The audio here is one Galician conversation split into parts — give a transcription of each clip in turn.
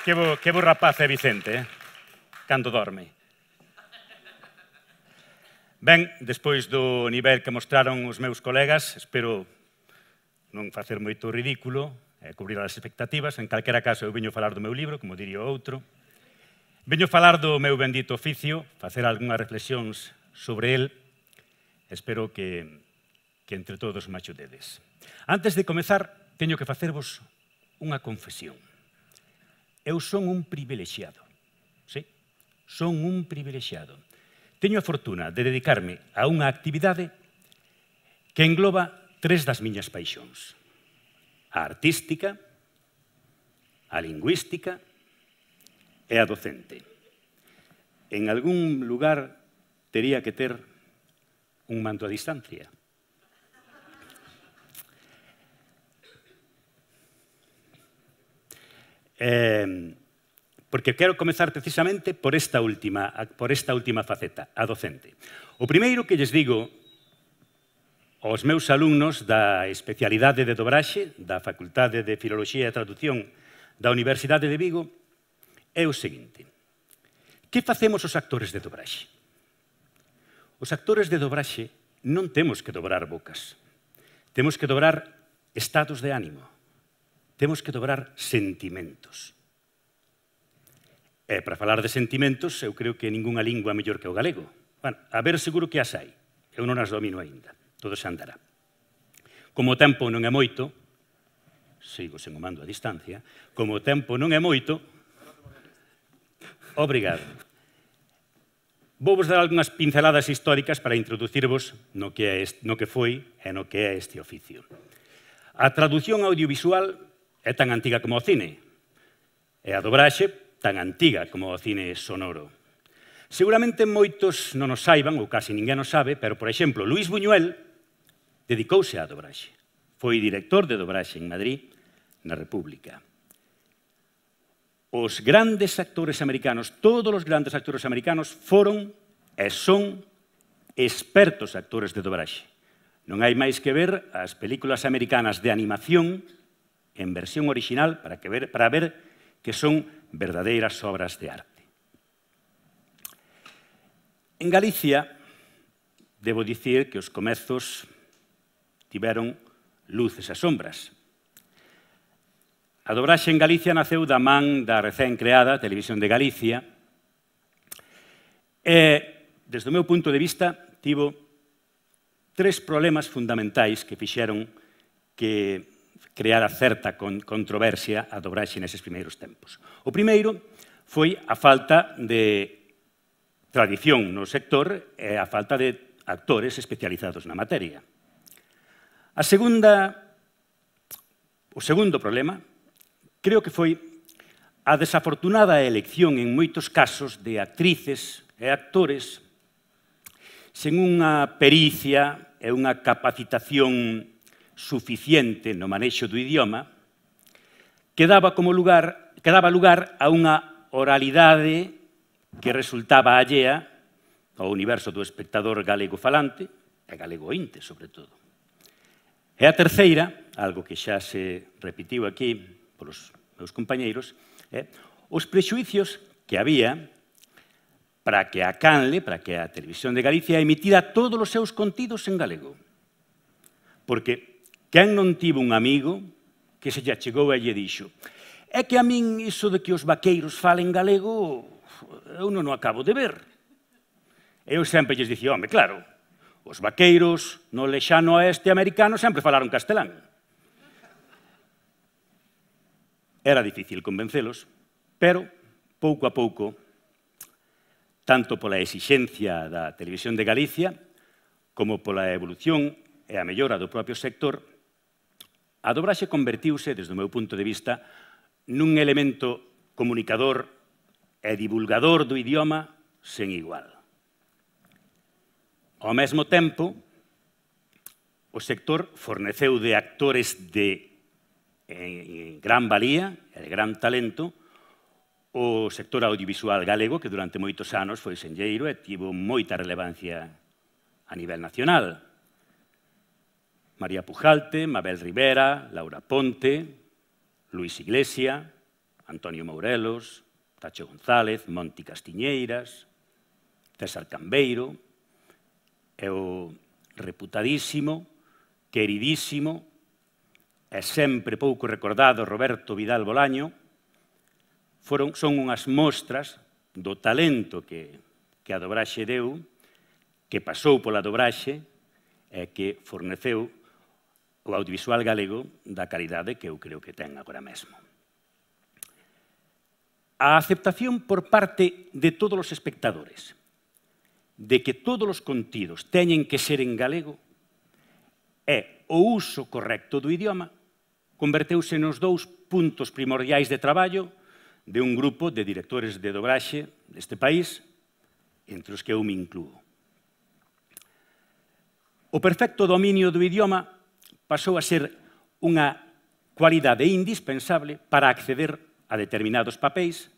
Que bo rapaz é Vicente, cando dorme. Ben, despois do nivel que mostraron os meus colegas, espero non facer moito ridículo e cubrir as expectativas. En calquera caso, eu veño falar do meu libro, como diría o outro. Veño falar do meu bendito oficio, facer algunhas reflexións sobre el. Espero que entre todos me axudedes. Antes de comezar, teño que facervos unha confesión. Eu son un privilexiado. Sí, son un privilexiado. Teño a fortuna de dedicarme a unha actividade que engloba 3 das miñas paixóns. A artística, a lingüística e a docente. En algún lugar tería que ter un mando a distancia. Porque quero comezar precisamente por esta última faceta, a docente. O primeiro que lles digo aos meus alumnos da especialidade de dobraxe da Facultade de Filoloxía e Traducción da Universidade de Vigo é o seguinte. Que facemos os actores de dobraxe? Os actores de dobraxe non temos que dobrar bocas. Temos que dobrar estados de ánimo. Temos que dobrar sentimentos. E para falar de sentimentos, eu creo que ningunha lingua é mellor que o galego. Bueno, a ver, seguro que as hai. Eu non as domino aínda. Todo se andará. Como o tempo non é moito, sigo sen o mando a distancia, como o tempo non é moito, obrigado. Vou vos dar algunhas pinceladas históricas para introducirvos no que foi e no que é este oficio. A traducción audiovisual é tan antiga como o cine, e a dobraxe tan antiga como o cine sonoro. Seguramente moitos non o saiban, ou casi ninguén o sabe, pero, por exemplo, Luís Buñuel dedicouse á dobraxe. Foi director de dobraxe en Madrid, na República. Os grandes actores americanos, todos os grandes actores americanos, foron e son expertos actores de dobraxe. Non hai máis que ver as películas americanas de animación en versión original para ver que son verdadeiras obras de arte. En Galicia, debo dicir que os comezos tiveron luces e sombras. A dobraxe en Galicia naceu da man da recén creada Televisión de Galicia e, desde o meu punto de vista, tivo 3 problemas fundamentais que fixeron que creara certa controversia a dobraxe neses primeiros tempos. O primeiro foi a falta de tradición no sector e a falta de actores especializados na materia. O segundo problema, creo que foi a desafortunada elección en moitos casos de actrices e actores sen unha pericia e unha capacitación suficiente no manexo do idioma que daba lugar a unha oralidade que resultaba allea ao universo do espectador galego falante e galego ointe, sobre todo. E a terceira, algo que xa se repitiu aquí polos meus compañeiros, é os prexuicios que había para que a Canle, para que a Televisión de Galicia emitira todos os seus contidos en galego. Porque quen non tivo un amigo que se lle chegou e lle dixo é que a min iso de que os vaqueiros falen galego eu non o acabo de ver. Eu sempre lles dicía, home, claro, os vaqueiros no lexano oeste americano sempre falaron castelán. Era difícil convencelos, pero pouco a pouco, tanto pola exixencia da Televisión de Galicia como pola evolución e a mellora do propio sector, a dobraxe convertiuse, desde o meu punto de vista, nun elemento comunicador e divulgador do idioma sen igual. Ao mesmo tempo, o sector forneceu de actores de gran valía e de gran talento o sector audiovisual galego, que durante moitos anos foi senlleiro e tivo moita relevancia a nivel nacional. María Pujalte, Mabel Rivera, Laura Ponte, Luis Iglesia, Antonio Mourelos, Tacho González, Monti Castiñeiras, César Cambeiro, e o reputadísimo, queridísimo e sempre pouco recordado Roberto Vidal Bolaño, son unhas mostras do talento que a dobraxe deu, que pasou pola dobraxe e que forneceu o audiovisual galego da calidade que eu creo que ten agora mesmo. A aceptación por parte de todos os espectadores de que todos os contidos teñen que ser en galego e o uso correcto do idioma converteuse nos dous puntos primordiais de traballo de un grupo de directores de dobraxe deste país, entre os que eu me incluo. O perfecto dominio do idioma pasou a ser unha cualidade indispensable para acceder a determinados papéis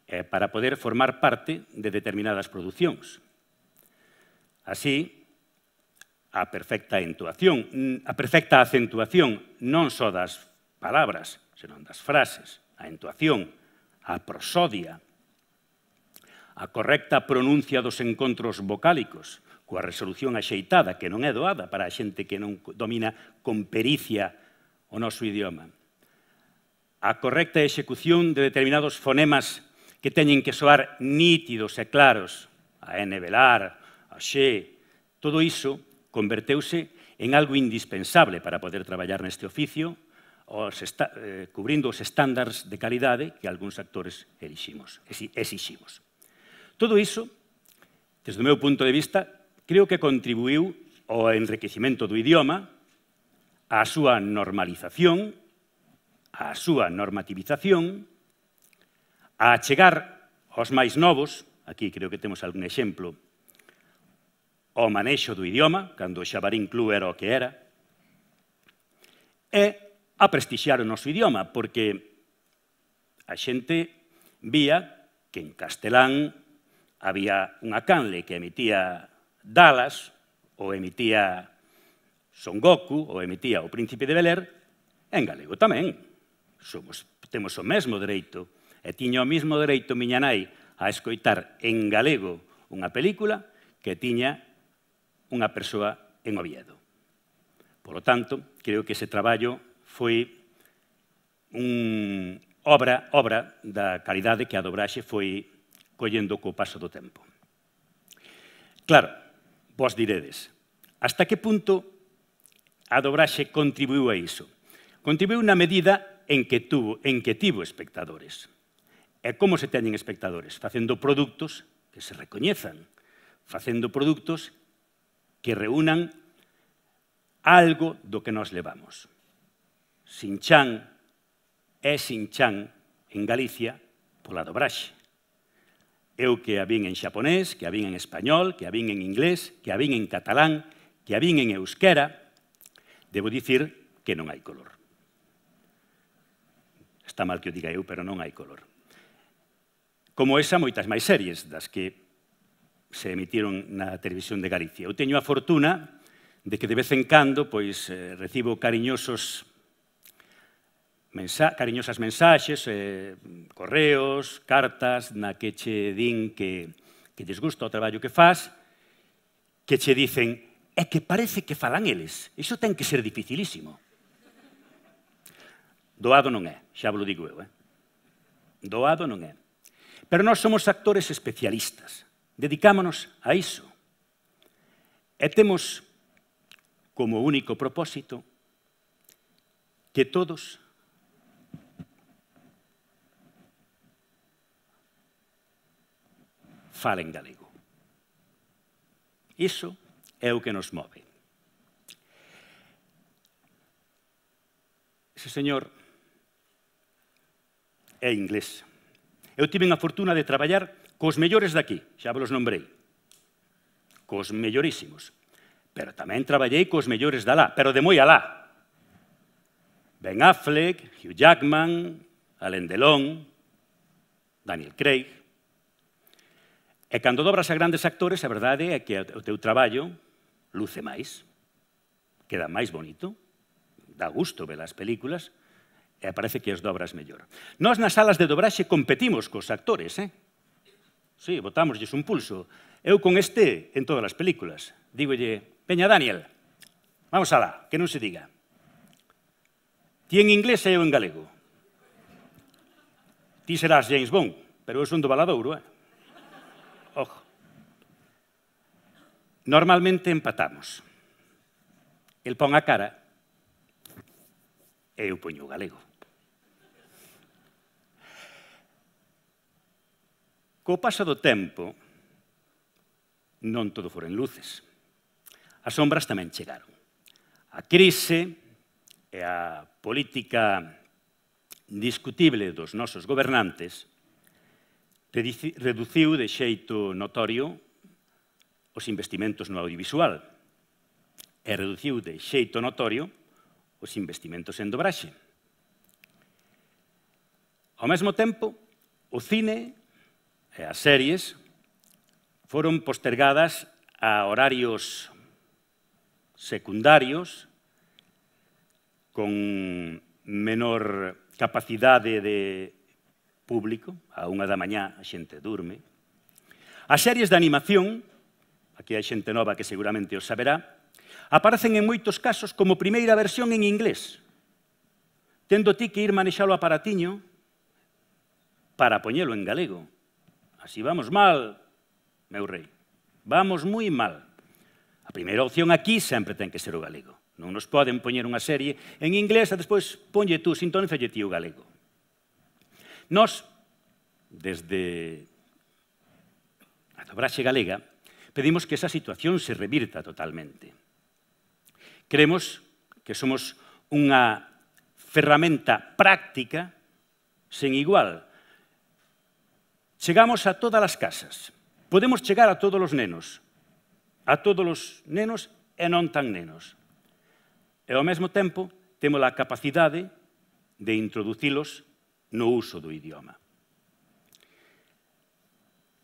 e para poder formar parte de determinadas producións. Así, a perfecta acentuación non só das palabras, senón das frases, a entoación, a prosodia, a correcta pronuncia dos encontros vocálicos, coa resolución axeitada, que non é doada para a xente que non domina con pericia o noso idioma. A correcta execución de determinados fonemas que teñen que soar nítidos e claros, a N velar, a xe, todo iso converteuse en algo indispensable para poder traballar neste oficio, cubrindo os estándares de calidade que algúns actores exiximos. Todo iso, desde o meu punto de vista, creo que contribuiu ao enriquecimento do idioma, á súa normalización, á súa normativización, a chegar aos máis novos, aquí creo que temos algún exemplo, ao manexo do idioma, cando o Xabarín Club era o que era, e a prestixiar o noso idioma, porque a xente vía que en castelán había unha canle que emitía Dallas, ou emitía Son Goku, ou emitía O Príncipe de Bel-Air, en galego tamén. Temos o mesmo dereito, e tiña o mesmo dereito miña nai a escoitar en galego unha película que tiña unha persoa en Oviedo. Por lo tanto, creo que ese traballo foi obra da calidade que a dobraxe foi collendo co paso do tempo. Claro, vos diredes, hasta que punto a dobraxe contribuiu a iso? Contribuiu na medida en que tivo espectadores. E como se teñen espectadores? Facendo produtos que se recoñezan, facendo produtos que reúnan algo do que nos levamos. Sinchan é Sinchan en Galicia pola dobraxe. Eu que a vin en xaponés, que a vin en español, que a vin en inglés, que a vin en catalán, que a vin en euskera, debo dicir que non hai color. Está mal que o diga eu, pero non hai color. Como esa, moitas máis series das que se emitiron na televisión de Galicia. Eu teño a fortuna de que de vez en cando recibo cariñosas mensaxes, correos, cartas na que che din que lles gusta o traballo que faz, que che dicen é que parece que falan eles. Iso ten que ser dificilísimo. Doado non é, xa vos lo digo eu. Doado non é. Pero nós somos actores especialistas. Dedicámonos a iso. E temos como único propósito que todos falen galego. Iso é o que nos move. Ese señor é inglés. Eu tive a fortuna de traballar cos mellores daqui, xa vos nombrei, cos mellorísimos. Pero tamén traballei cos mellores de alá, pero de moi alá. Ben Affleck, Hugh Jackman, Alain Delon, Daniel Craig. E cando dobras a grandes actores, a verdade é que o teu traballo luce máis. queda máis bonito, dá gusto ver as películas, e parece que as dobras mellor. Nós nas salas de dobraxe competimos cos actores, Sí, botámoslles un pulso. Eu con este en todas as películas. Dígolle, veña, Daniel, vamos alá, que non se diga. Ti en inglés e eu en galego. Ti serás James Bond, pero eu son do Valadouro, Ojo. Normalmente empatamos. El pon a cara e eu poño o galego. Co paso do tempo, non todo foron luces. As sombras tamén chegaron. A crise e a política discutible dos nosos gobernantes reduciu de xeito notorio os investimentos no audiovisual e reduciu de xeito notorio os investimentos en dobraxe. Ao mesmo tempo, o cine e as series foron postergadas a horarios secundarios con menor capacidade de público, a 1 da mañá a xente durme. As series de animación, aquí hai xente nova que seguramente os saberá, aparecen en moitos casos como primeira versión en inglés, tendo ti que ir manexalo o aparatiño para poñelo en galego. Así vamos mal, meu rei. Vamos moi mal. A primeira opción aquí sempre ten que ser o galego. Non nos poden poñer unha serie en inglés e despois ponlle tú, sintonízalle ti o galego. Nós, desde a dobraxe galega, pedimos que esa situación se revirta totalmente. Creemos que somos unha ferramenta práctica sen igual. Chegamos a todas as casas. Podemos chegar a todos os nenos. A todos os nenos e non tan nenos. E ao mesmo tempo temos a capacidade de introducilos no uso do idioma.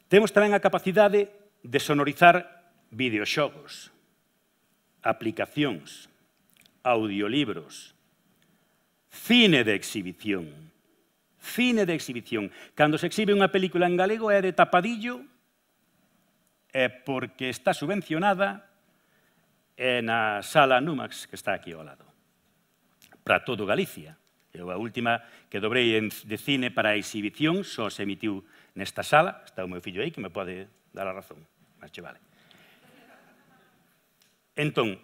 Temos tamén a capacidade de sonorizar videoxogos, aplicacións, audiolibros, cine de exhibición. Cine de exhibición. Cando se exhibe unha película en galego é de tapadillo e porque está subvencionada na sala Numax que está aquí ao lado. Para todo Galicia. Eu a última que dobrei de cine para a exhibición só se emitiu nesta sala. Está o meu fillo aí que me pode dar a razón. Mas che vale. Entón,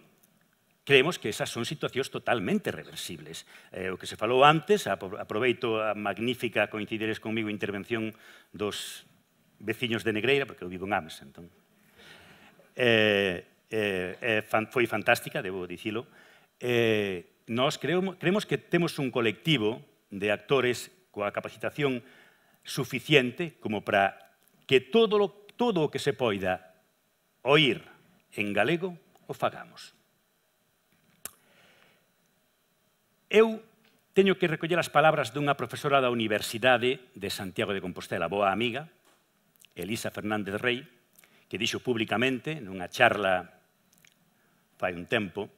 creemos que esas son situacións totalmente reversibles. O que se falou antes, aproveito a magnífica, coincidiredes comigo, intervención dos veciños de Negreira, porque eu vivo en Ames, entón. Foi fantástica, debo dicilo. Nós creemos que temos un colectivo de actores coa capacitación suficiente como para que todo o que se poida oír en galego o fagamos. Eu teño que recoller as palabras dunha profesora da Universidade de Santiago de Compostela, boa amiga, Elisa Fernández Rey, que dixo públicamente nunha charla fai un tempo,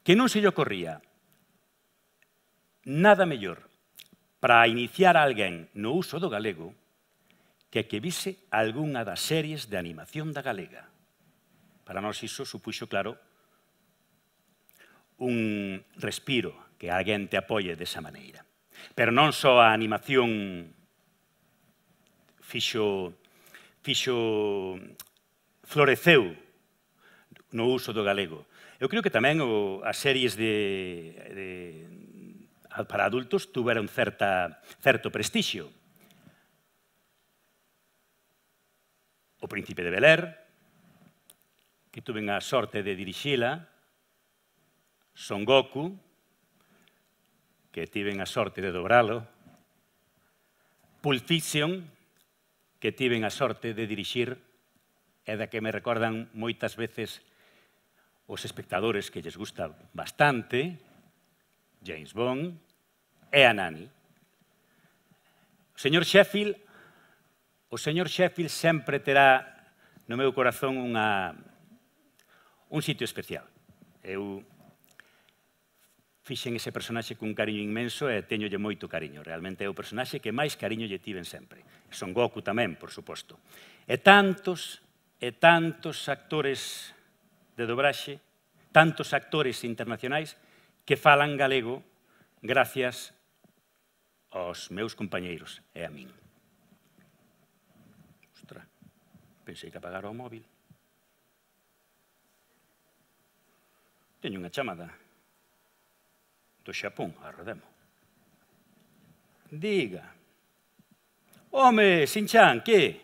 que non se lle ocorría nada mellor para iniciar a alguén no uso do galego que vise algunha das series de animación da galega. Para nós iso supuxo, claro, un respiro, que alguén te apoie desa maneira. Pero non só a animación floreceu no uso do galego. Eu creo que tamén as series para adultos tuveron certo prestixio. O Príncipe de Bel-Air, que tuven a sorte de dirixila, Son Goku, que tiven a sorte de dobralo, Pulp Fiction, que tiven a sorte de dirixir e da que me recordan moitas veces os espectadores que lles gusta bastante, James Bond e a Nani. O señor Sheffield sempre terá no meu corazón un sitio especial. Eu fixen ese personaxe cun cariño inmenso e teñolle moito cariño. Realmente é o personaxe que máis cariño lle tiven sempre. Son Goku tamén, por suposto. E tantos actores de dobraxe, tantos actores internacionais que falan galego gracias aos meus compañeiros e a min. Ostra, pensei que apagara o móvil. Teño unha chamada do Xapón, arredemo. Diga. Home, Shin-chan, que?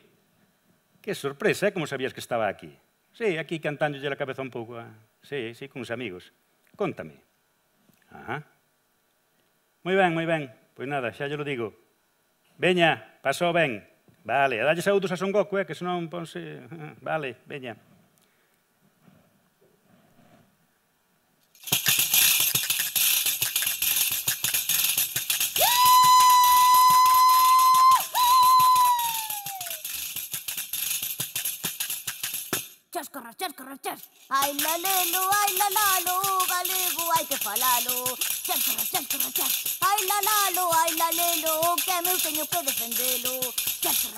Que sorpresa, como sabías que estaba aquí? Sí, aquí cantándolle a cabeza un pouco. Sí, con os amigos. Cóntame. Ajá. Moi ben. Pois nada, xa lle lo digo. Veña, pasou ben. Vale, a dalle saúdos a Son Goku, que senón ponse... Vale, veña. Chas. Ai la lelo, ai la lalo, galego hai que falalo. Chas. Ai la lelo, que meu teño que defendelo. Chas.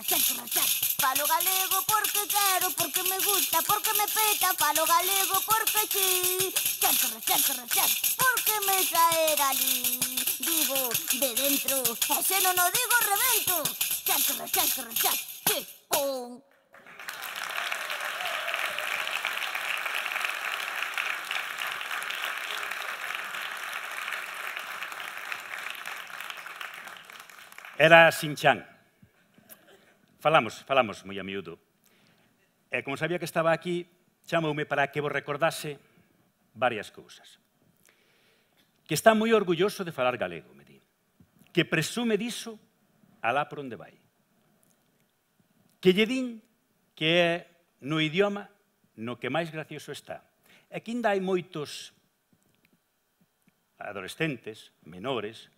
Falo galego porque quero, porque me gusta, porque me peta. Falo galego porque sí. Chas. Porque me sae galí. Digo de dentro, e se non o digo rebento. Chas. Que pon. Era Shin-chan. Falamos moi a miúdo. E como sabía que estaba aquí, chamoume para que vos recordase varias cousas. Que está moi orgulloso de falar galego, me di. Que presume diso alá por onde vai. Que lle din que é no idioma no que máis gracioso está. E que ainda hai moitos adolescentes, menores,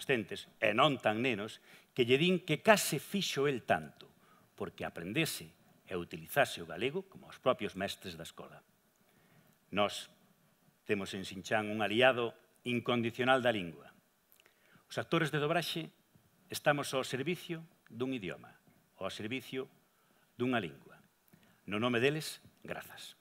e non tan nenos, que lle din que case fixo el tanto, porque aprendese e utilizase o galego como os propios mestres da escola. Nós temos en Shin-chan un aliado incondicional da lingua. Os actores de dobraxe estamos ao servicio dun idioma, ao servicio dunha lingua. No nome deles, grazas.